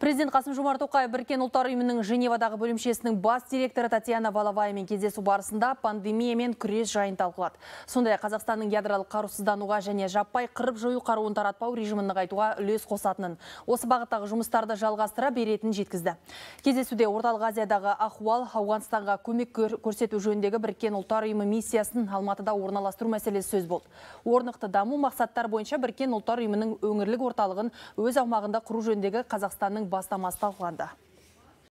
Президент Қасым-Жомарт Тоқаев Біріккен ұлттар ұйымының Женевадағы бөлімшесінің бас директоры Татьяна Валаваймен кездесу барысында пандемиямен күрес жайын талқылады. Сондай Қазақстанның ядролық қарусыздануға және жаппай қырып-жою қаруын таратпау режимін нығайтуға үлес қосатынын, осы бағыттағы жұмыстарды жалғастыра беретінін жеткізді. Кездесуде Орталық Азиядағы ахуал, Ауғанстанға көмек көрсету жөніндегі Біріккен ұлттар ұйымы миссиясын Алматыда орналастыру мәселесі сөз болды. Орнықты даму мақсаттар бойынша Біріккен ұлттар ұйымының өңірлік орталығын өз аумағында құру жөніндегі Қазақстанның бастамасы талқыланды.